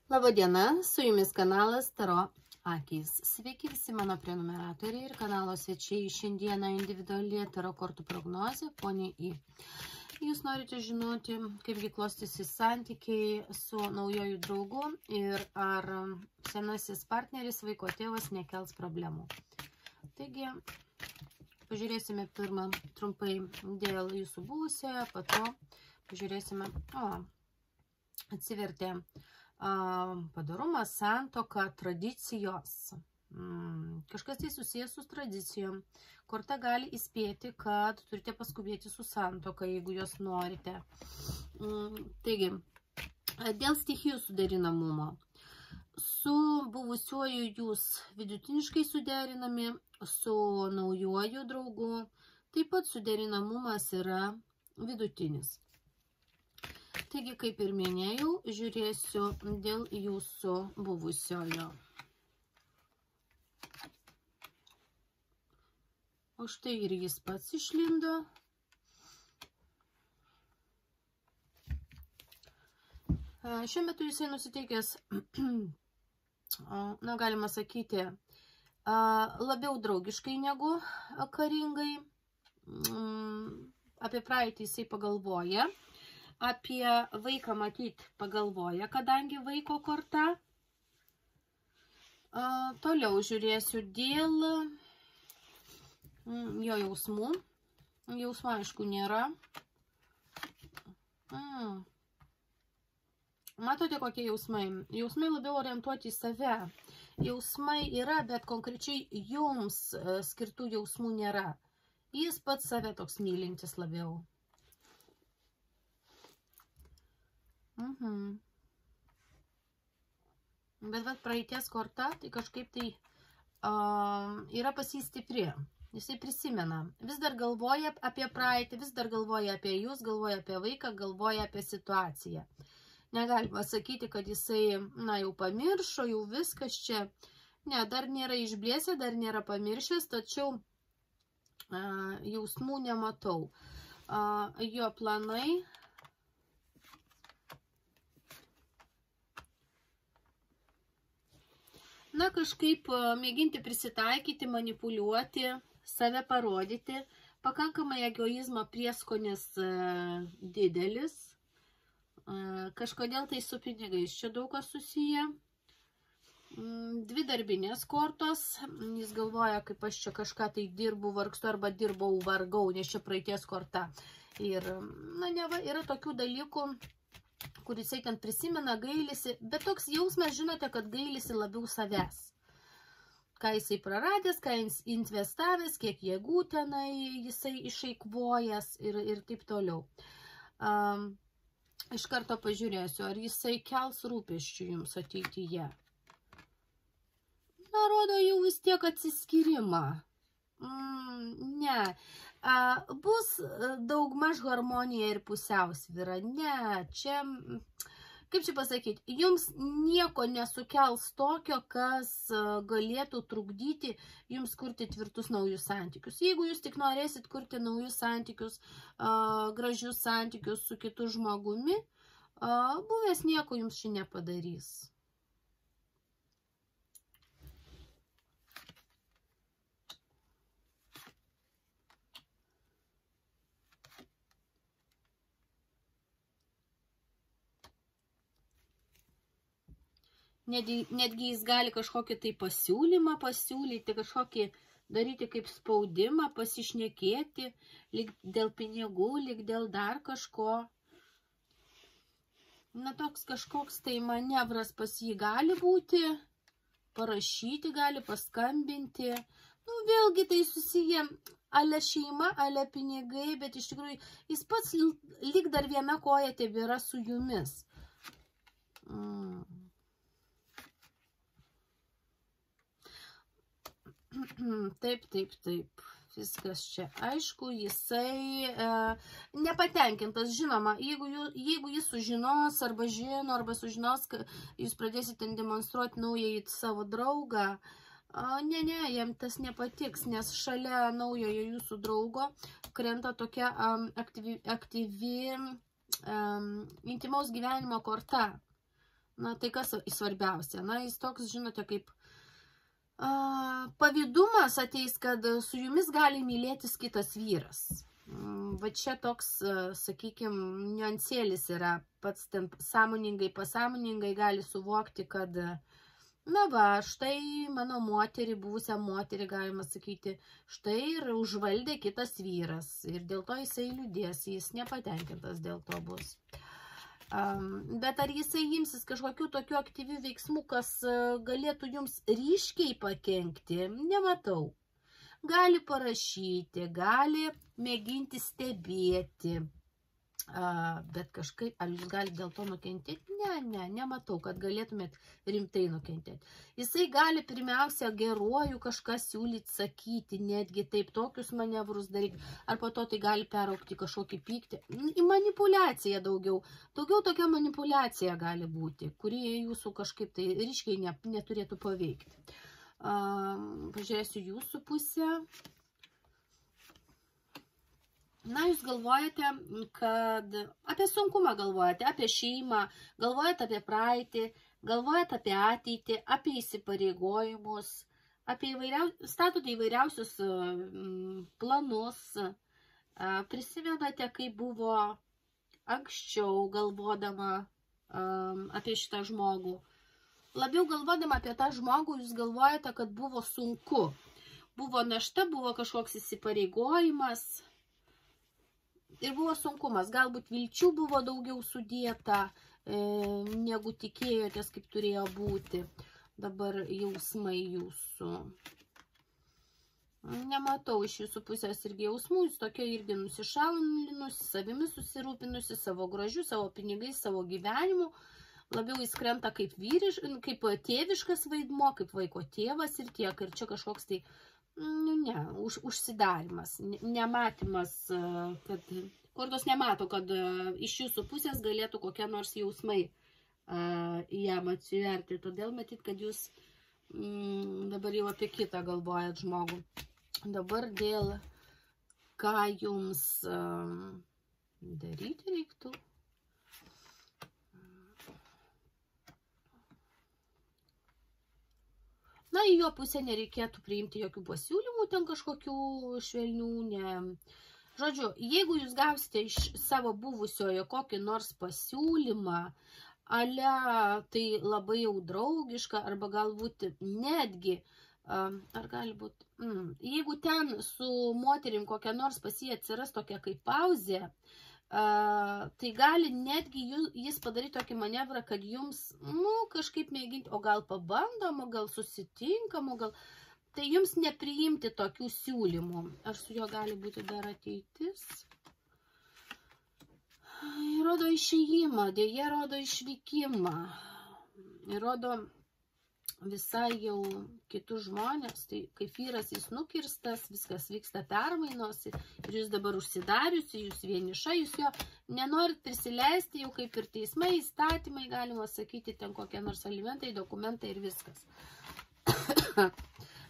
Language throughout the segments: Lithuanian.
Labadiena, su jumis kanalas Taro Akys. Sveiki visi mano prenumeratoriai ir kanalo svečiai. Šiandieną individuali Taro kortų prognozė, ponė I. Jūs norite žinoti, kaipgi klostysi santykiai su naujoju draugu ir ar senasis partneris, vaiko tėvas, nekels problemų. Taigi, pažiūrėsime pirmą trumpai dėl jūsų buvusiojo, po to pažiūrėsime, atsivertė padarumas, santuoka, tradicijos. Kažkas tai susijęs su tradicijom. Korta gali įspėti, kad turite paskubėti su santuoka, jeigu jos norite. Taigi, dėl stichijų suderinamumo. Su buvusiuoju jūs vidutiniškai suderinami, su naujuoju draugu taip pat suderinamumas yra vidutinis. Taigi, kaip ir minėjau, žiūrėsiu dėl jūsų buvusiojo. O štai ir jis pats išlindo. Šiuo metu jisai nusiteikęs, galima sakyti, labiau draugiškai negu karingai. Apie praeitį jisai pagalvoja. Apie vaiką matyt pagalvoja, kadangi vaiko korta. Toliau žiūrėsiu dėl jo jausmų. Jausmų, aišku, nėra. Matote, kokie jausmai? Jausmai labiau orientuoti į save. Jausmai yra, bet konkrečiai jums skirtų jausmų nėra. Jis pats save toks mylintis labiau. Bet praeities korta, tai kažkaip tai yra pas jį stipri. Jisai prisimena. Vis dar galvoja apie praeitį, vis dar galvoja apie jūs, galvoja apie vaiką, galvoja apie situaciją. Negalima sakyti, kad jisai, jau pamiršo, jau viskas čia. Ne, dar nėra išblėsę, dar nėra pamiršęs, tačiau jausmų nematau. Jo planai. Kažkaip mėginti prisitaikyti, manipuliuoti, save parodyti. Pakankamai egoizmo prieskonis didelis. Kažkodėl tai su pinigais čia daug kas susiję. Dvi darbinės kortos. Jis galvoja, kaip aš čia kažką tai dirbu, vargstu arba dirbau, vargau, nes čia praeities korta. Ir, yra tokių dalykų, kur jisai ten prisimena, gailisi, bet toks jausmas, žinote, kad gailisi labiau savęs. Ką jisai praradęs, ką jis investavęs, kiek jėgų tenai jisai išeikvojęs ir taip toliau. Iš karto pažiūrėsiu, ar jisai kels rūpesčių jums ateityje. Rodo jau vis tiek atsiskyrimą. Ne. Bus daugmaž harmonija ir pusiausvyra. Ne, čia, kaip čia pasakyti, jums nieko nesukels tokio, kas galėtų trukdyti jums kurti tvirtus naujus santykius. Jeigu jūs tik norėsit kurti naujus santykius, gražius santykius su kitu žmogumi, buvęs nieko jums čia nepadarys. Netgi jis gali kažkokį tai pasiūlymą pasiūlyti, kažkokį daryti kaip spaudimą, pasišnekėti, lyg dėl pinigų, lyg dėl dar kažko. Toks kažkoks tai manevras pas jį gali būti, parašyti gali, paskambinti. Vėlgi tai susiję ale šeima, ale pinigai, bet iš tikrųjų jis pats lyg dar viena koja tebėra su jumis. Taip. Viskas čia. Aišku, jisai nepatenkintas. Žinoma, jeigu jis sužinos, arba žino, arba sužinos, kad jūs pradėsite demonstruoti naująjį savo draugą, ne, jam tas nepatiks, nes šalia naujojo jūsų draugo krenta tokia aktyvi intimaus gyvenimo korta. Na, tai kas svarbiausia? Na, jis toks, žinote, kaip pavydumas ateis, kad su jumis gali mylėtis kitas vyras. Va čia toks, sakykime, niuansėlis yra. Pats ten pasąmoningai gali suvokti, kad na va, štai mano moterį, buvusią moterį, galima sakyti, štai ir užvaldė kitas vyras. Ir dėl to jisai liūdės, jis nepatenkintas dėl to bus. Bet ar jisai imsis kažkokių tokių aktyvių veiksmų, kas galėtų jums ryškiai pakenkti, nematau. Gali parašyti, gali mėginti stebėti. Bet kažkaip, ar jūs galite dėl to nukentėti? Nematau, kad galėtumėt rimtai nukentėti. Jisai gali pirmiausia geruoju kažką siūlyti, sakyti, netgi taip tokius manevrus daryti, ar po to tai gali peraukti kažkokį pyktį. Į manipuliaciją daugiau tokia manipuliacija gali būti, kuri jūsų kažkaip tai ryškiai neturėtų paveikti. Pažiūrėsiu jūsų pusę. Na, jūs galvojate, kad apie sunkumą galvojate, apie šeimą, galvojate apie praeitį, galvojate apie ateitį, apie įsipareigojimus, statote įvairiausius planus, prisimenate, kaip buvo anksčiau galvodama apie šitą žmogų. Labiau galvodama apie tą žmogų, jūs galvojate, kad buvo sunku. Buvo našta, buvo kažkoks įsipareigojimas. Ir buvo sunkumas, galbūt vilčių buvo daugiau sudėta, negu tikėjotės, kaip turėjo būti. Dabar jausmai jūsų. Nematau iš jūsų pusės irgi jausmų, jūs tokia irgi nusišalinusi, savimi susirūpinusi, savo grožiu, savo pinigais, savo gyvenimu. Labiau jis krenta kaip tėviškas vaidmo, kaip vaiko tėvas ir tiek. Ir čia kažkoks tai užsidarimas, nematymas, kad kortos nemato, kad iš jūsų pusės galėtų kokie nors jausmai jam atsiverti. Todėl matyt, kad jūs dabar jau apie kitą galvojat žmogų. Dabar dėl ką jums daryti reiktų. Na, į jo pusę nereikėtų priimti jokių pasiūlymų, ten kažkokių švelnių, Žodžiu, jeigu jūs gausite iš savo buvusiojo kokį nors pasiūlymą, tai labai jau draugiška, arba galbūt netgi, ar gali būti, jeigu ten su moterim kokia nors pas jį atsiras tokia kaip pauzė, tai gali netgi jis padaryti tokį manevrą, kad jums, kažkaip mėginti, o gal pabandom, o gal susitinkam, o gal, tai jums nepriimti tokių siūlymų. Ar su juo gali būti dar ateitis? Rodo išėjimą, dėja rodo išvykimą, rodo visai jau kitus žmonės, tai kaip vyras jis nukirstas, viskas vyksta permainos ir jūs dabar užsidariusi, jūs vieniša, jūs jo nenorit prisileisti, jau kaip ir teismai, įstatymai, galima sakyti, ten kokie nors alimentai, dokumentai ir viskas.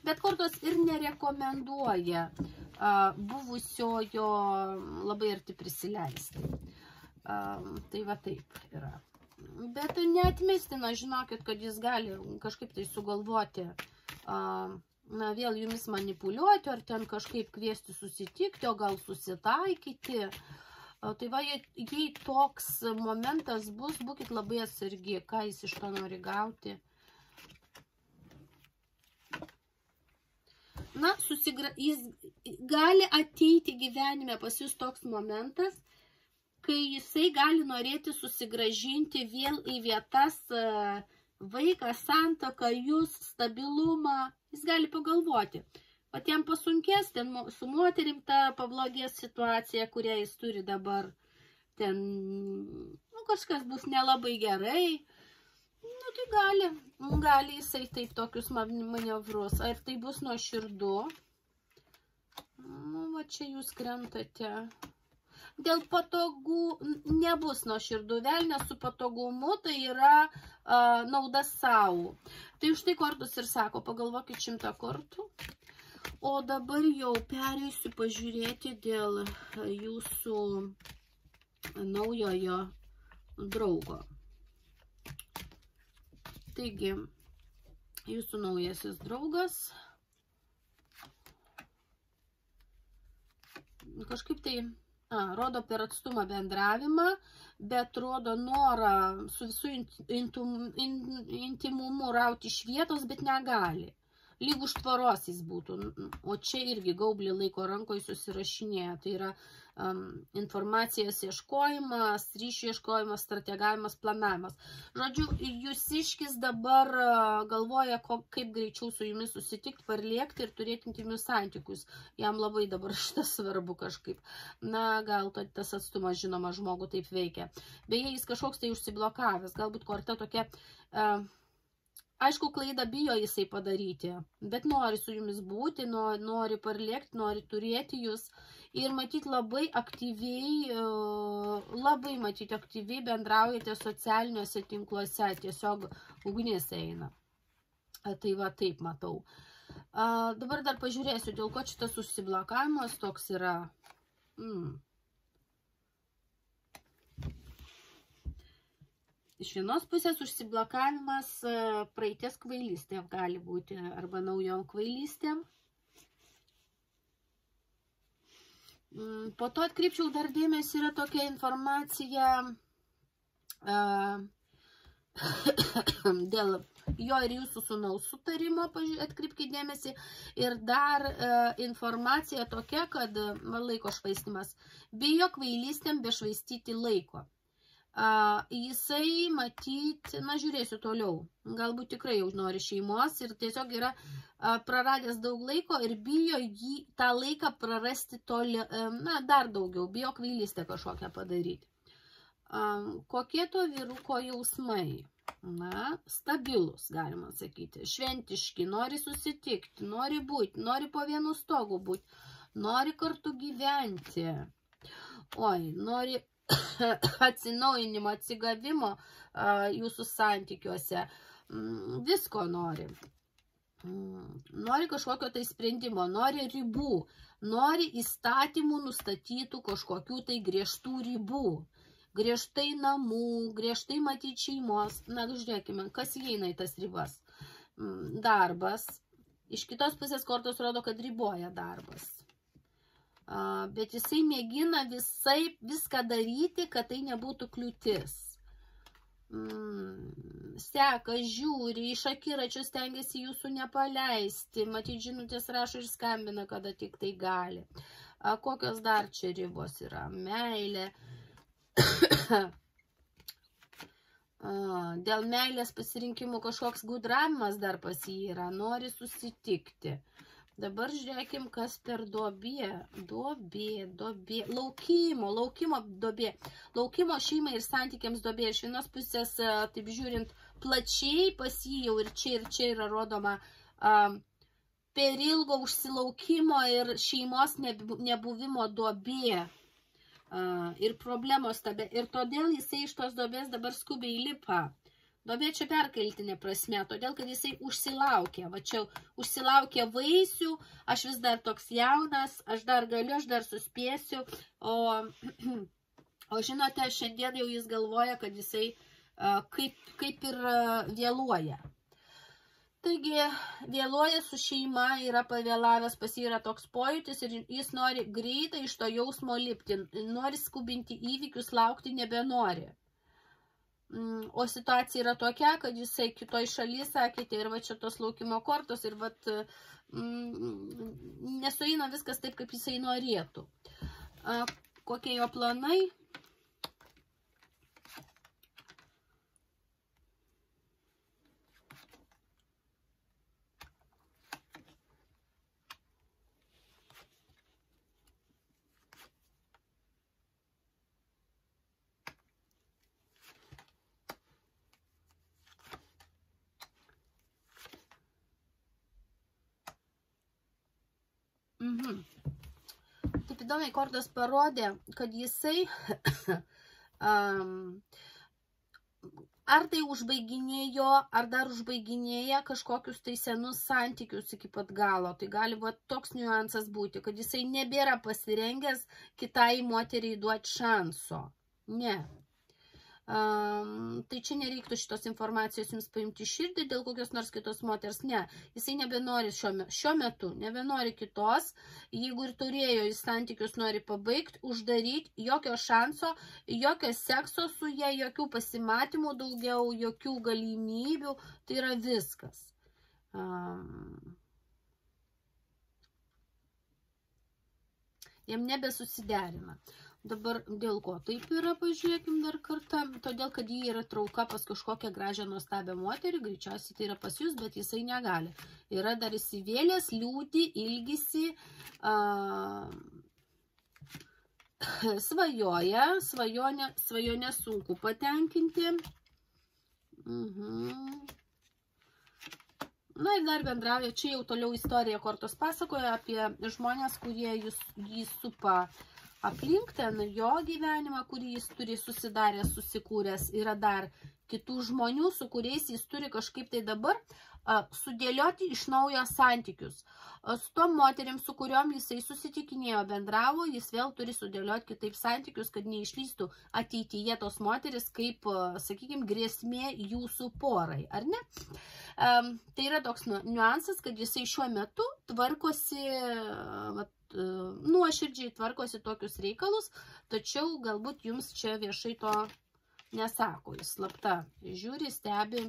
Bet kortos ir nerekomenduoja buvusiojo labai arti prisileisti. Tai va taip yra. Bet neatmestina, žinokit, kad jis gali kažkaip tai sugalvoti, vėl jumis manipuliuoti, ar ten kažkaip kviesti susitikti, o gal susitaikyti. Tai va, jei toks momentas bus, būkit labai atsargi, ką jis iš to nori gauti. Na, jis gali ateiti gyvenime pas jūs toks momentas, kai jisai gali norėti susigražinti vėl į vietas vaiką, santuoką, jūs, stabilumą. Jis gali pagalvoti. O jam pasunkės, ten su moterim ta pablogės situacija, kurią jis turi dabar. Ten, kažkas bus nelabai gerai. Tai gali jisai taip tokius manevrus. Ar tai bus nuoširdu? Va čia jūs krentate. Dėl patogų nebus nuoširdų, velnės su patogumu, tai yra nauda savo. Tai už tai kortus ir sako, pagalvokit 100 kartų. O dabar jau pereisiu pažiūrėti dėl jūsų naujojo draugo. Taigi, jūsų naujasis draugas kažkaip tai rodo per atstumą bendravimą, bet rodo norą su visų intimumu rauti iš vietos, bet negali. Lyg už tvaros jis būtų, o čia irgi gaublį laiko rankoje susirašinėja. Tai yra informacijos ieškojimas, ryšių ieškojimas, strategavimas, planavimas. Žodžiu, jūsiškis dabar galvoja, kaip greičiau su jumis susitikti, parlėkti ir turėti intimius santykius. Jam labai dabar šitas svarbu kažkaip. Na, gal tas atstumas, žinoma, žmogų taip veikia. Beje, jis kažkoks tai užsiblokavęs, galbūt korta tokia... Aišku, klaidą bijo jisai padaryti, bet nori su jumis būti, nori parlėkti, nori turėti jūs ir matyti labai aktyviai bendraujate socialiniuose tinkluose, tiesiog ugnis eina. Tai va, taip matau. Dabar dar pažiūrėsiu, dėl ko šitas užsiblokavimas toks yra. Iš vienos pusės užsiblokavimas praeities kvailystėm gali būti, arba naujom kvailystėm. Po to atkreipčiau dar dėmesį, yra tokia informacija dėl jo ir jūsų sūnaus sutarimo, atkreipkite dėmesį. Ir dar informacija tokia, kad laiko švaistimas. Bijo kvailystėm bešvaistyti laiko. Jisai matyti, na žiūrėsiu toliau, galbūt tikrai jau nori šeimos ir tiesiog yra praradęs daug laiko ir bijo jį tą laiką prarasti dar daugiau, bijo kvailystę kažkokią padaryti. Kokie to vyruko jausmai? Na, stabilus, galima sakyti, šventiški, nori susitikti, nori būti, nori po vienu stogu būti, nori kartu gyventi, nori atsinaujinimo, atsigavimo jūsų santykiuose, visko nori. Nori kažkokio tai sprendimo, nori ribų, nori įstatymų nustatytų kažkokių tai griežtų ribų, griežtai namų, griežtai matyti šeimos. Na, žiūrėkime, kas įeina į tas ribas. Darbas. Iš kitos pusės kortos rodo, kad riboja darbas. Bet jisai mėgina viską daryti, kad tai nebūtų kliūtis. Seka, žiūri, iš akiračių stengiasi jūsų nepaleisti, matyt, žinutės rašo ir skambina, kada tik tai gali. Kokios dar čia ribos yra? Meilė. Dėl meilės pasirinkimų kažkoks gudravimas dar pas jį yra, nori susitikti. Dabar žiūrėkim, kas per duobė. Duobė. Laukimo duobė. Laukimo šeimai ir santykiams duobė. Iš vienos pusės, taip žiūrint, plačiai pas jį jau ir čia yra rodoma per ilgo užsilaukimo ir šeimos nebuvimo duobė. Ir problemos tada. Ir todėl jisai iš tos duobės dabar skubiai lipa. Duobė čia perkeltinė prasme, todėl, kad jisai užsilaukė. Va čia užsilaukė vaisių, aš vis dar toks jaunas, aš dar galiu, aš dar suspėsiu. O žinote, šiandien jau jis galvoja, kad jisai kaip ir vėluoja. Taigi, vėluoja su šeima, yra pavėlavęs, pas jį yra toks pojūtis ir jis nori greitai iš to jausmo lipti, nori skubinti įvykius, laukti nebenori. O situacija yra tokia, kad jisai kitoj šaly, sakėte, ir va čia tos laukimo kortos, ir va nesueina viskas taip, kaip jisai norėtų. Kokie jo planai? Taip įdomiai kortos parodė, kad jisai ar tai užbaiginėjo, ar dar užbaiginėja kažkokius tai senus santykius iki pat galo. Tai gali toks niuansas būti, kad jisai nebėra pasirengęs kitai moteriai duoti šanso. Ne. Tai čia nereiktų šitos informacijos jums paimti širdį dėl kokios nors kitos moters. Ne, jisai nebenori šiuo metu, nebenori kitos. Jeigu ir turėjo, jis santykius nori pabaigti, uždaryti, jokio šanso, jokio sekso su jie, jokių pasimatymų daugiau, jokių galimybių. Tai yra viskas. Jam nebesusiderina. Dabar dėl ko taip yra, pažiūrėkim dar kartą, todėl, kad jį yra trauka pas kažkokią gražią nuostabią moterį, greičiausiai tai yra pas jūs, bet jisai negali. Yra dar įsivėlęs, liūdį, ilgisi, svajonę sunku patenkinti. Na ir dar bendrauja, čia jau toliau istorija kortos pasakoja apie žmonės, kurie jį supa aplink ten jo gyvenimą, kurį jis turi susidaręs, susikūręs. Yra dar kitų žmonių, su kuriais jis turi kažkaip tai dabar sudėlioti iš naujo santykius. Su tom moterim, su kuriuom jisai susitikinėjo, bendravo, jis vėl turi sudėlioti kitaip santykius, kad neišlystų ateityje tos moteris kaip, sakykime, grėsmė jūsų porai, ar ne? Tai yra toks niuansas, kad jisai šiuo metu tvarkosi, nuoširdžiai tvarkosi tokius reikalus, tačiau galbūt jums čia viešai to nesako, jis slapta žiūri, stebi,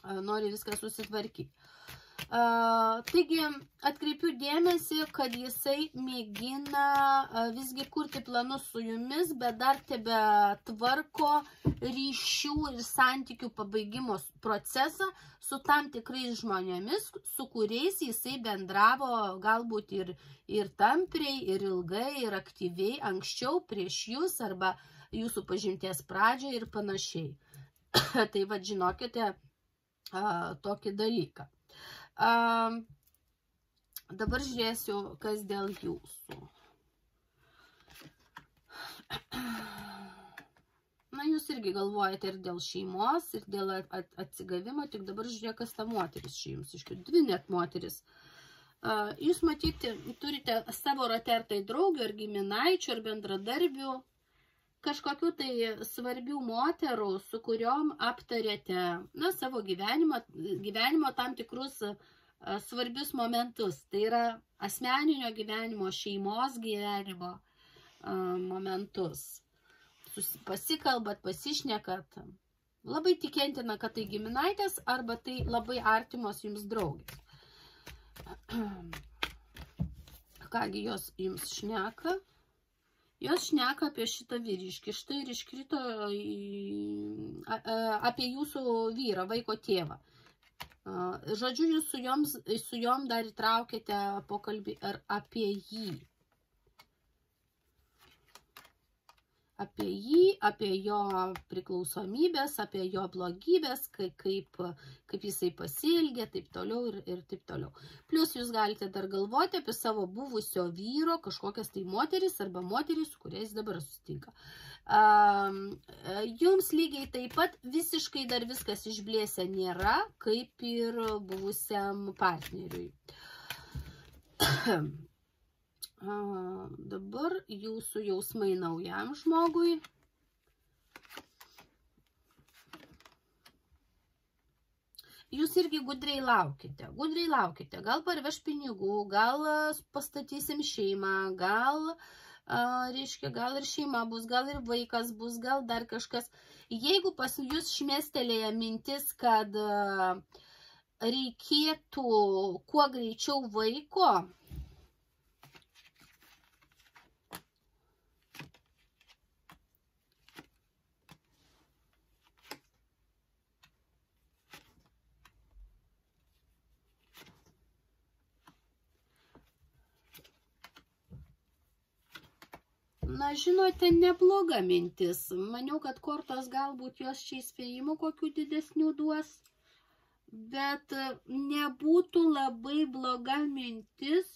nori viską susitvarkyti. Taigi, atkreipiu dėmesį, kad jisai mėgina visgi kurti planus su jumis, bet dar tebe tvarko ryšių ir santykių pabaigimo procesą su tam tikrais žmonėmis, su kuriais jisai bendravo galbūt ir tampriai, ir ilgai, ir aktyviai, anksčiau prieš jūs arba jūsų pažinties pradžioje ir panašiai. Tai vad žinokite tokį dalyką. Dabar žiūrėsiu, kas dėl jūsų. Na, jūs irgi galvojate ir dėl šeimos, ir dėl atsigavimo, tik dabar žiūrėk, kas ta moteris čia jums iškiu. Dvi net moteris. Jūs matyti, turite savo rate ar tai draugių, ar giminaičių, ar bendradarbių, kažkokių tai svarbių moterų, su kuriom aptarėte savo gyvenimo tam tikrus svarbius momentus. Tai yra asmeninio gyvenimo, šeimos gyvenimo momentus. Pasikalbat, pasišnekat. Labai tikėtina, kad tai giminaitės arba tai labai artimos jums draugės. Kągi jos jums šneka? Jos šneka apie šitą vyriškį. Štai ir iškrito apie jūsų vyrą, vaiko tėvą. Žodžiu, jūs su jom dar įtraukėte pokalbį ir apie jį. Apie jį, apie jo priklausomybės, apie jo blogybės, kaip jisai pasielgė, taip toliau ir taip toliau. Plus jūs galite dar galvoti apie savo buvusio vyro kažkokias tai moteris arba moteris, su kuriais dabar susitinka. Jums lygiai taip pat visiškai dar viskas išblėsę nėra, kaip ir buvusiam partneriui. Dabar jūsų jausmai naujam žmogui. Jūs irgi gudriai laukite. Gal parveš pinigų, gal pastatysim šeimą, gal ir šeima bus, gal ir vaikas bus, gal dar kažkas. Jeigu pas jūs šmėstelėja mintis, kad reikėtų kuo greičiau vaiko, na, žinote, nebloga mintis. Maniau, kad kortos galbūt jos čia įspėjimų kokių didesnių duos, bet nebūtų labai bloga mintis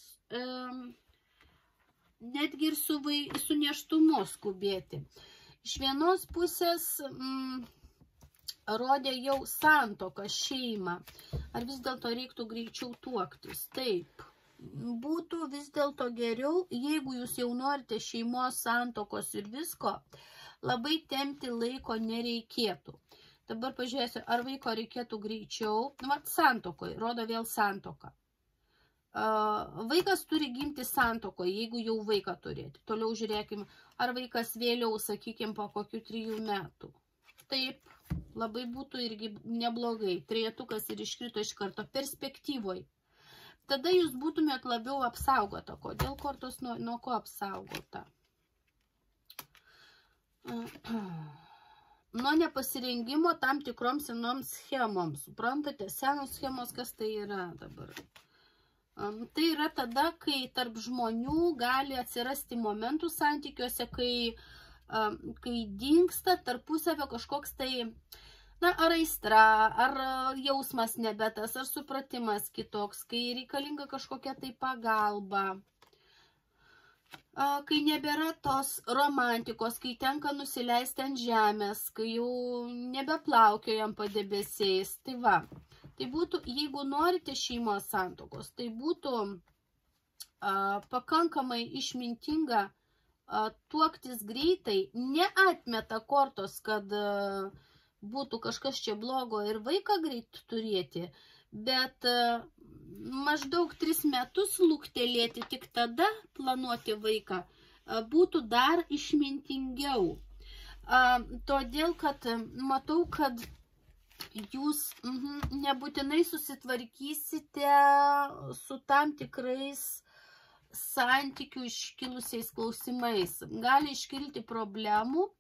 netgi ir su nėštumu skubėti. Iš vienos pusės rodė jau santuoką, šeimą. Ar vis dėlto reiktų greičiau tuoktis? Taip. Būtų vis dėlto geriau, jeigu jūs jau norite šeimos, santuokos ir visko, labai tempti laiko nereikėtų. Dabar pažiūrėsiu, ar vaiko reikėtų greičiau. Santuokoje, rodo vėl santuoką. Vaikas turi gimti santuokoje, jeigu jau vaiką turėti. Toliau žiūrėkime, ar vaikas vėliau, sakykime, po kokių 3 metų. Taip, labai būtų irgi neblogai. Trejetukas ir iškrito iš karto perspektyvoje. Tada jūs būtumėt labiau apsaugota. Kodėl kortos nuo ko apsaugota? Nuo nepasirengimo tam tikroms senoms schemoms. Suprantate, senos schemos, kas tai yra dabar? Tai yra tada, kai tarp žmonių gali atsirasti momentų santykiuose, kai dingsta tarpusavio kažkoks tai, ar aistra, ar jausmas nebetas, ar supratimas kitoks, kai reikalinga kažkokia tai pagalba, kai nebėra tos romantikos, kai tenka nusileisti ant žemės, kai jau nebeplaukiojam padebesiais. Tai va, tai būtų, jeigu norite šeimos santuokos, tai būtų pakankamai išmintinga tuoktis greitai, neatmeta kortos, kad būtų kažkas čia blogo ir vaiką greit turėti, bet maždaug 3 metus luktelėti, tik tada planuoti vaiką būtų dar išmintingiau. Todėl, kad matau, kad jūs nebūtinai susitvarkysite su tam tikrais santykių iškilusiais klausimais. Gali iškilti problemų,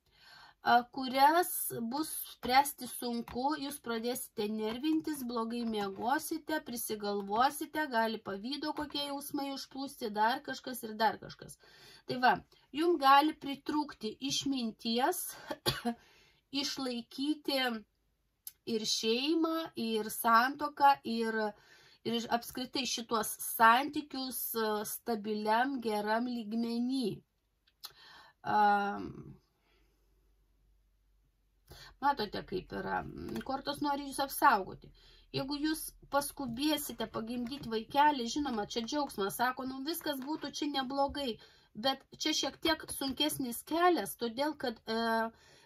kurias bus spręsti sunku, jūs pradėsite nervintis, blogai miegosite, prisigalvosite, gali pavydo kokie jausmai užplūsti, dar kažkas ir dar kažkas. Tai va, jums gali pritrūkti išminties, išlaikyti ir šeimą, ir santuoką, ir apskritai šitos santykius stabiliam, geram lygmenį. Matote, kaip yra. Kortos nori jūs apsaugoti. Jeigu jūs paskubėsite pagimdyti vaikelį, žinoma, čia džiaugsmas, sako, viskas būtų čia neblogai, bet čia šiek tiek sunkesnis kelias, todėl, kad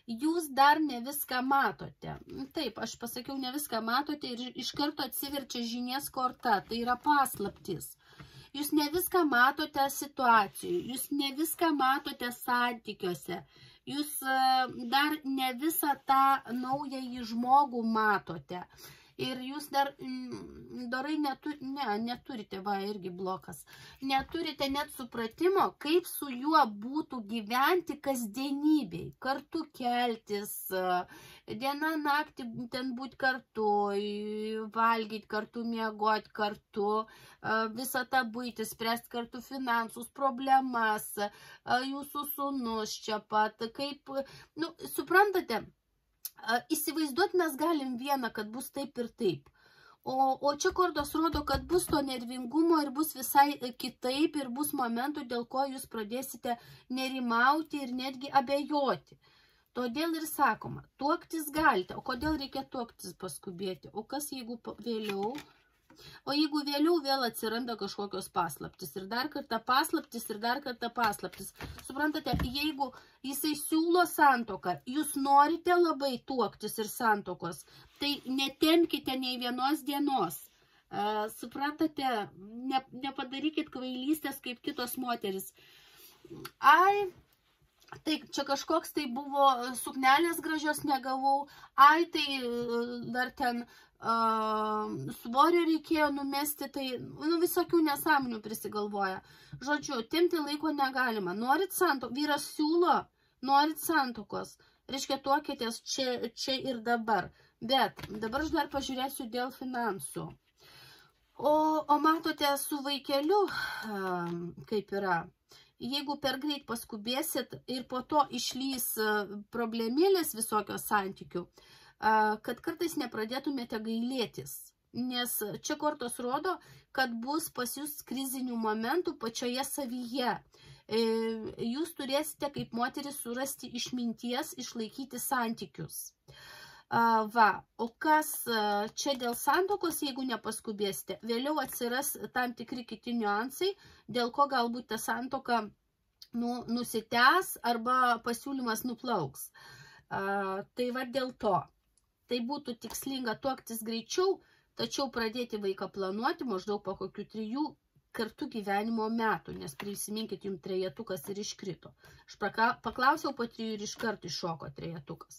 jūs dar ne viską matote. Taip, aš pasakiau, ne viską matote ir iš karto atsiverčia žinies korta, tai yra paslaptis. Jūs ne viską matote situacijų, jūs ne viską matote santykiuose. Jūs dar ne visą tą naująjį žmogų matote. Ir jūs dar dorai neturite, va, irgi blokas, neturite net supratimo, kaip su juo būtų gyventi kasdienybėj, kartu keltis, dieną naktį ten būti kartu, valgyti kartu, miegoti kartu, visą tą buitį, spręsti kartu finansus, problemas, jūsų sūnus čia pat, kaip, suprantate, įsivaizduoti mes galim vieną, kad bus taip ir taip. O čia kortos rodo, kad bus to nervingumo ir bus visai kitaip ir bus momentų, dėl ko jūs pradėsite nerimauti ir netgi abejoti. Todėl ir sakoma, tuoktis galite. O kodėl reikia tuoktis paskubėti? O kas jeigu vėliau? O jeigu vėliau vėl atsiranda kažkokios paslaptis ir dar kartą paslaptis ir dar kartą paslaptis. Suprantate, jeigu jisai siūlo santuoką, jūs norite labai tuoktis ir santuokos, tai netempkite nei vienos dienos. Suprantate, nepadarykit kvailystės kaip kitos moteris. Tai čia kažkoks tai buvo suknelės gražios negavau, tai dar ten svorio reikėjo numesti, tai visokių nesąmonių prisigalvoja. Žodžiu, timti laiko negalima. Norit santuokos, vyras siūlo, norit santuokos. Reiškia, tuokitės čia ir dabar. Bet dabar aš dar pažiūrėsiu dėl finansų. O matote, su vaikeliu, kaip yra, jeigu per greit paskubėsit ir po to išlys problemėlės visokios santykių, kad kartais nepradėtumėte gailėtis. Nes čia kortos rodo, kad bus pas jūs krizinių momentų pačioje savyje. Jūs turėsite kaip moteris surasti išminties, išlaikyti santykius. O kas čia dėl santuokos, jeigu nepaskubėsite, vėliau atsiras tam tikri kiti niuansai, dėl ko galbūt ta santuoka nusitęs arba pasiūlymas nuplauks. Tai va dėl to. Tai būtų tikslinga tuoktis greičiau, tačiau pradėti vaiką planuoti maždaug po kokių 3 kartų gyvenimo metų, nes prisiminkit, jums trejetukas ir iškrito. Aš paklausiau po 3 ir iš karto iššoko trejetukas.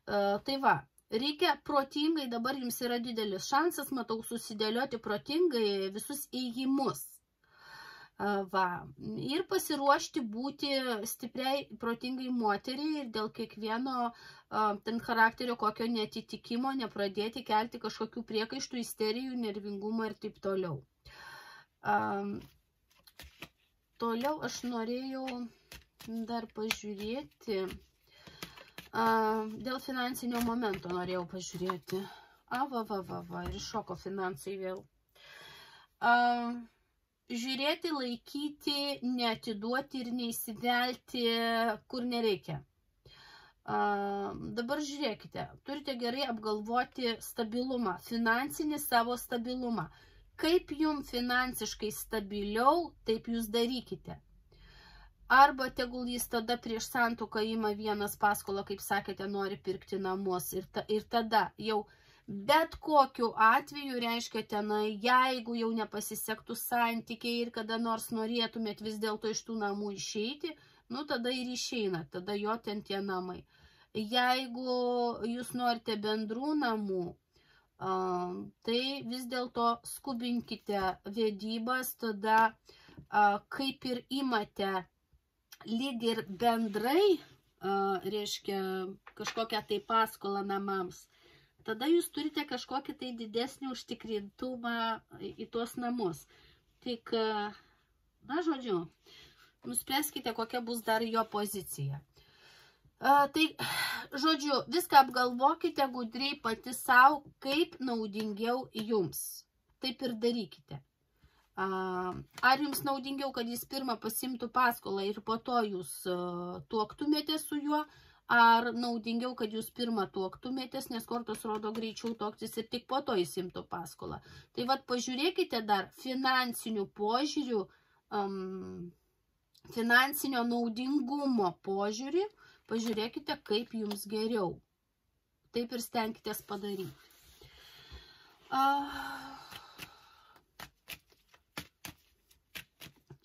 Tai va, reikia protingai, dabar jums yra didelis šansas, matau, susidėlioti protingai visus ėjimus. Va, ir pasiruošti būti stipriai, protingai moteriai ir dėl kiekvieno ten charakterio kokio netitikimo nepradėti kelti kažkokių priekaištų, isterijų, nervingumo ir taip toliau. Toliau aš norėjau dar pažiūrėti, dėl finansinio momento norėjau pažiūrėti. Ir iššoko finansai vėl. Žiūrėti, laikyti, neatiduoti ir neįsivelti, kur nereikia. Dabar žiūrėkite, turite gerai apgalvoti stabilumą, finansinį savo stabilumą. Kaip jums finansiškai stabiliau, taip jūs darykite. Arba tegul jis tada prieš santuoką ima vienas paskolą, kaip sakėte, nori pirkti namus ir tada jau bet kokiu atveju, reiškia tenai, jeigu jau nepasisektų santykiai ir kada nors norėtumėt vis dėlto iš tų namų išeiti, nu tada ir išeina, tada jo ten tie namai. Jeigu jūs norite bendrų namų, tai vis dėlto skubinkite vedybas, tada kaip ir imate lyg ir bendrai, reiškia kažkokią tai paskolą namams, tada jūs turite kažkokį tai didesnį užtikrintumą į tuos namus. Tik, na žodžiu, nuspręskite, kokia bus dar jo pozicija. Tai, žodžiu, viską apgalvokite gudriai pati savo, kaip naudingiau jums. Taip ir darykite. Ar jums naudingiau, kad jis pirmą pasimtų paskolą ir po to jūs tuoktumėte su juo, ar naudingiau, kad jūs pirmą tuoktumėtės, nes kortos rodo greičiau tuoktis ir tik po to įsimtų paskolą. Tai vat pažiūrėkite dar finansinių požiūrių, finansinio naudingumo požiūrį, pažiūrėkite, kaip jums geriau. Taip ir stenkitės padaryti.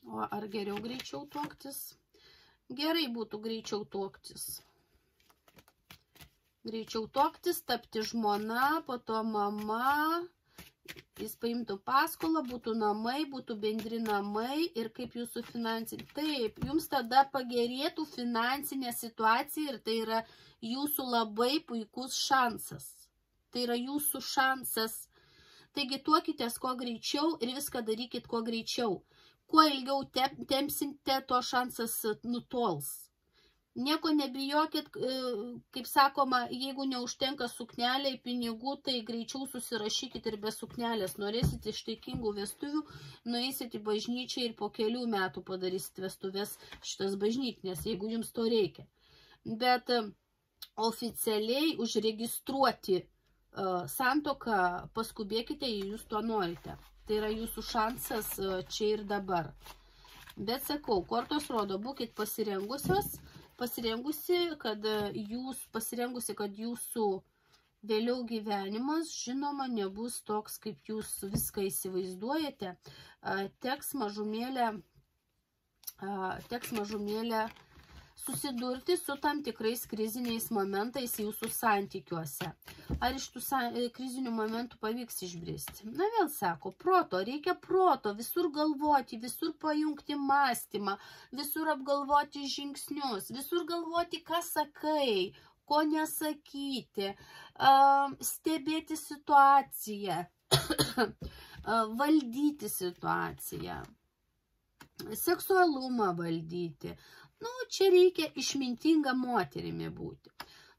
O ar geriau greičiau tuoktis? Gerai būtų greičiau tuoktis. Greičiau tuoktis, tapti žmona, po to mama, jis paimtų paskolą, būtų namai, būtų bendri namai ir kaip jūsų finansinė. Taip, jums tada pagerėtų finansinė situacija ir tai yra jūsų labai puikus šansas. Tai yra jūsų šansas. Taigi tuokitės kuo greičiau ir viską darykit kuo greičiau. Kuo ilgiau tempsite, to šansas nutols. Nieko nebijokit, kaip sakoma, jeigu neužtenka sukneliai pinigų, tai greičiau susirašykit ir be suknelės. Norėsit ištaikingų vestuvių, nueisit į bažnyčią ir po kelių metų padarysit vestuvės šitas bažnytinės, jeigu jums to reikia. Bet oficialiai užregistruoti santuoką paskubėkite, jei jūs to norite. Tai yra jūsų šansas čia ir dabar. Bet sakau, kortos rodo, būkit pasirengusi, kad jūsų vėliau gyvenimas, žinoma, nebus toks, kaip jūs viską įsivaizduojate. Teks mažumėlę susidurti su tam tikrais kriziniais momentais jūsų santykiuose. Ar iš tų krizinių momentų pavyks išbristi? Na vėl sako, reikia proto, visur galvoti, visur pajungti mąstymą, visur apgalvoti žingsnius, visur galvoti, ką sakai, ko nesakyti, stebėti situaciją, valdyti situaciją, seksualumą valdyti. Nu, čia reikia išmintinga moterimi būti.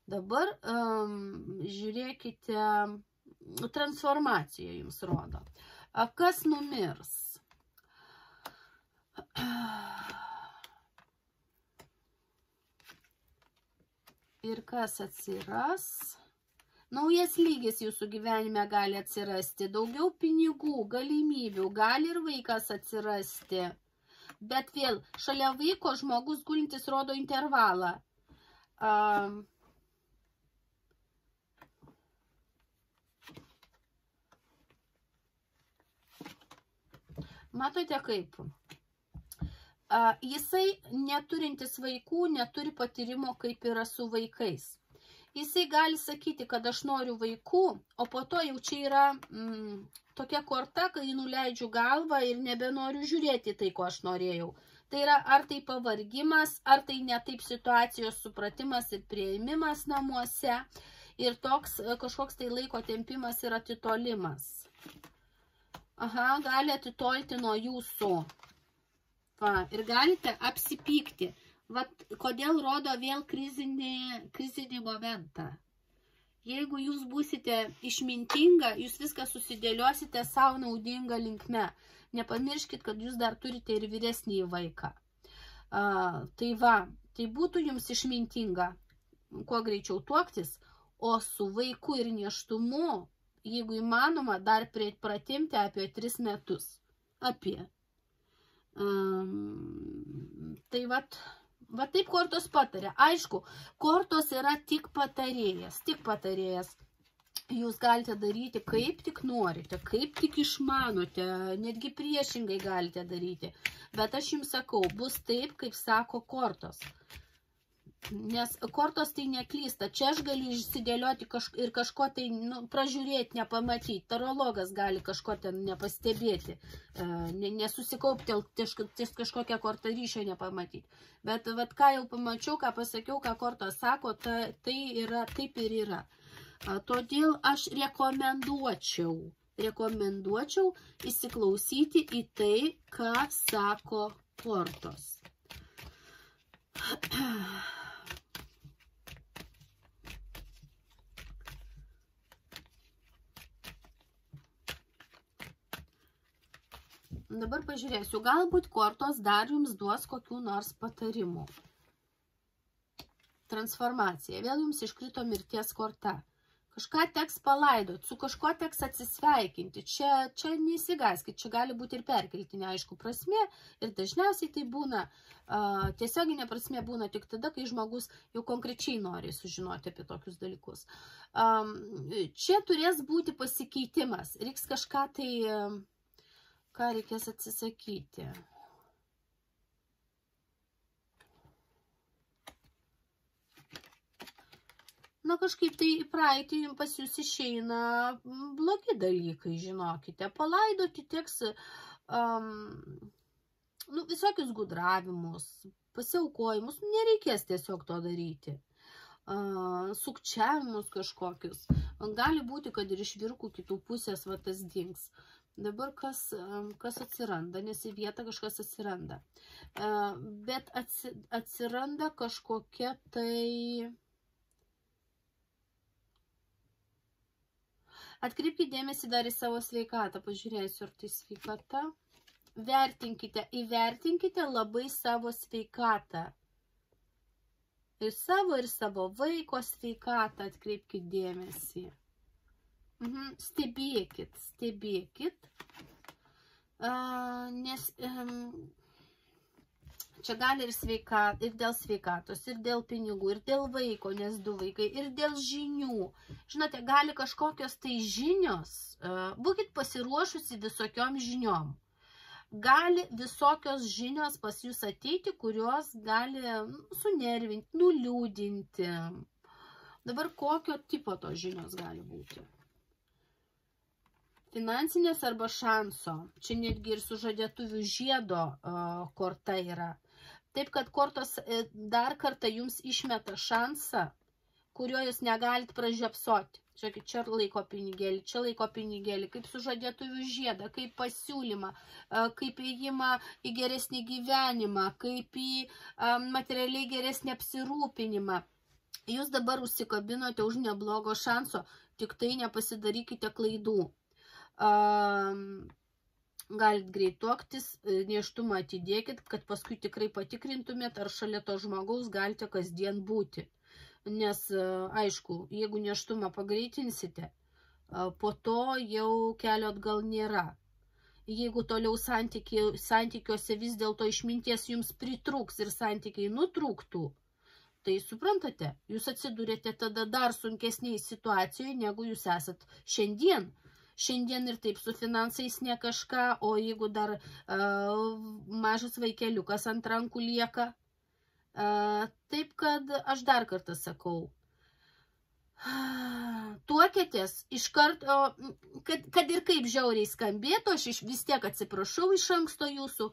Dabar žiūrėkite, transformacija jums rodo. Kas numirs? Ir kas atsiras? Naujas lygis jūsų gyvenime gali atsirasti. Daugiau pinigų, galimybių, gali ir vaikas atsirasti. Bet vėl, šalia vaiko žmogus gulintis rodo intervalą. Matote kaip? Jisai neturintis vaikų, neturi patyrimo, kaip yra su vaikais. Jisai gali sakyti, kad aš noriu vaikų, o po to jau čia yra tokia korta, kai nuleidžiu galvą ir nebenoriu žiūrėti tai, ko aš norėjau. Tai yra ar tai pavargimas, ar tai netaip situacijos supratimas ir prieimimas namuose ir toks kažkoks tai laiko tempimas ir atitolimas. Aha, gali atitolti nuo jūsų. Va, ir galite apsipykti. Vat, kodėl rodo vėl krizinį momentą. Jeigu jūs būsite išmintinga, jūs viską susidėliosite savo naudingą linkme. Nepamirškit, kad jūs dar turite ir vyresnį vaiką. Tai va, tai būtų jums išmintinga, kuo greičiau tuoktis, o su vaiku ir nėštumu, jeigu įmanoma, dar pratimti apie 3 metus. Tai vat... Va taip kortos patarė. Aišku, kortos yra tik patarėjas. Jūs galite daryti kaip tik norite, kaip tik išmanote, netgi priešingai galite daryti. Bet aš jums sakau, bus taip, kaip sako kortos. Nes kortos tai neklysta. Čia aš galiu išsidėlioti ir kažko tai pražiūrėti, nepamatyti. Tarologas gali kažko ten nepastebėti, nesusikaupti ties kažkokią kortą ryšio nepamatyti. Bet ką jau pamačiau, ką pasakiau, ką kortos sako, tai yra, taip ir yra. Todėl aš rekomenduočiau įsiklausyti į tai, ką sako kortos. Dabar pažiūrėsiu, galbūt kortos dar jums duos kokių nors patarimų. Transformacija. Vėl jums iškrito mirties korta. Kažką teks palaidoti, su kažko teks atsisveikinti. Čia neįsigaskit, čia gali būti ir perkeltinė, aišku, prasmė. Ir dažniausiai tai būna, tiesioginė prasmė būna tik tada, kai žmogus jau konkrečiai nori sužinoti apie tokius dalykus. Čia turės būti pasikeitimas. Reiks kažką tai... Ką reikės atsisakyti? Na, kažkaip tai į praeitį pas jūs išeina blogi dalykai, žinokite. Palaidoti teks visokius gudravimus, pasiaukojimus. Nereikės tiesiog to daryti. Sukčiavimus kažkokius. Gali būti, kad ir iš vyrukų kitų pusės va tas dings. Dabar kas atsiranda, nes į vietą kažkas atsiranda. Bet atsiranda kažkokia tai... Atkreipkite dėmesį dar į savo sveikatą. Pažiūrėsiu, ar tai sveikata. Įvertinkite labai savo sveikatą. Ir savo vaiko sveikatą atkreipkite dėmesį. Stebėkit, nes čia gali ir dėl sveikatos, ir dėl pinigų, ir dėl vaiko, nes 2 vaikai, ir dėl žinių. Žinote, gali kažkokios tai žinios, būkit pasiruošusi visokiom žiniom. Gali visokios žinios pas jūs ateiti, kurios gali sunervinti, nuliūdinti. Dabar kokio tipo tos žinios gali būti? Finansinės arba šanso. Čia netgi ir sužadėtuvių žiedo korta yra. Taip, kad kortos dar kartą jums išmeta šansą, kurio jūs negalit pražiopsoti. Čia laiko pinigėlį, čia laiko pinigėlį, kaip sužadėtuvių žiedą, kaip pasiūlymą, kaip įėjimą į geresnį gyvenimą, kaip į materialiai geresnį apsirūpinimą. Jūs dabar užsikabinote už neblogo šanso, tik tai nepasidarykite klaidų. Galit greit tuoktis, nėštumą atidėkit, kad paskui tikrai patikrintumėt, ar šalia to žmogaus galite kasdien būti. Nes, aišku, jeigu nėštumą pagreitinsite, po to jau kelio atgal nėra. jeigu toliau santykiuose vis dėlto išminties jums pritrūks ir santykiai nutrūktų, tai suprantate, jūs atsidūrėte tada dar sunkesniai situacijoje, negu jūs esat šiandien. Šiandien ir taip su finansais ne kažką, o jeigu dar mažas vaikeliukas ant rankų lieka. Taip kad aš dar kartą sakau, tuokėtės iš karto, kad ir kaip žiauriai skambėtų, aš vis tiek atsiprašau iš anksto jūsų,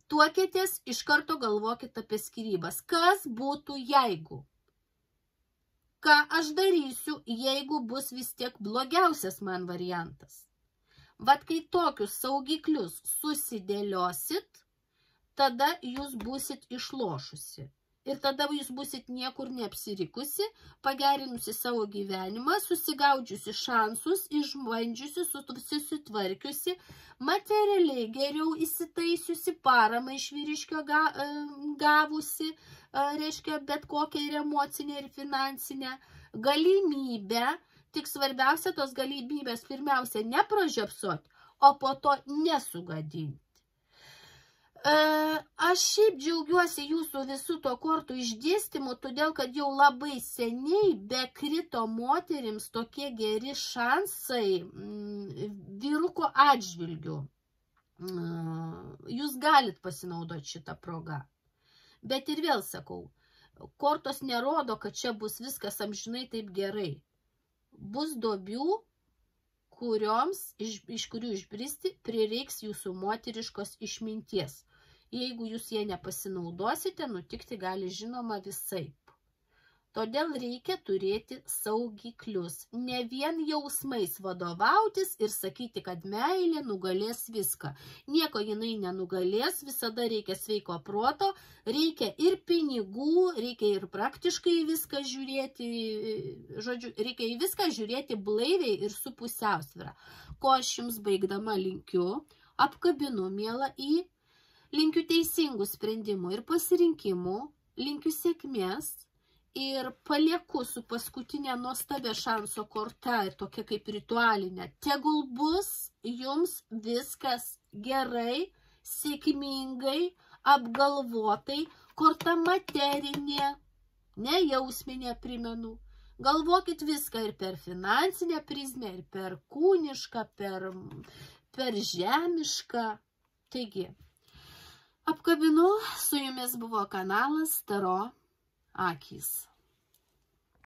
tuokėtės iš karto galvokit apie skyrybas. Kas būtų jeigu? Ką aš darysiu, jeigu bus vis tiek blogiausias man variantas? Vat kai tokius saugiklius susidėliosit, tada jūs būsit išlošusi. Ir tada jūs būsit niekur neapsirikusi, pagerinusi savo gyvenimą, susigaudžiusi šansus, išbandžiusi, susitvarkiusi, materialiai geriau įsitaisiusi, paramą iš vyriškio gavusi, reiškia bet kokią ir emocinę, ir finansinę galimybę. Tik svarbiausia tos galimybės pirmiausia nepražiopsot, o po to nesugadinti. Aš šiaip džiaugiuosi jūsų visų to kortų išdėstymu, todėl kad jau labai seniai bekrito moterims tokie geri šansai vyruko atžvilgių. Jūs galit pasinaudoti šitą progą. Bet ir vėl sakau, kortos nerodo, kad čia bus viskas amžinai taip gerai. Bus duobių, iš kurių išbristi prireiks jūsų moteriškos išminties. Jeigu jūs jie nepasinaudosite, nutikti gali žinoma visaip. Todėl reikia turėti saugiklius. Ne vien jausmais vadovautis ir sakyti, kad meilė nugalės viską. Nieko jinai nenugalės, visada reikia sveiko proto, reikia ir pinigų, reikia ir praktiškai viską žiūrėti, žodžiu, reikia į viską žiūrėti blaiviai ir su pusiausvyra. Ko aš jums baigdama linkiu, apkabinu mielą linkiu teisingų sprendimų ir pasirinkimų, linkiu sėkmės. Ir palieku su paskutinė nuostabia šanso korta ir tokia kaip ritualinė. Tegul bus jums viskas gerai, sėkmingai, apgalvotai, korta materinė, ne jausminė primenu. Galvokit viską ir per finansinę prizmę, ir per kūnišką, per žemišką. Taigi, apkabinu, su jumis buvo kanalas Taro Akys.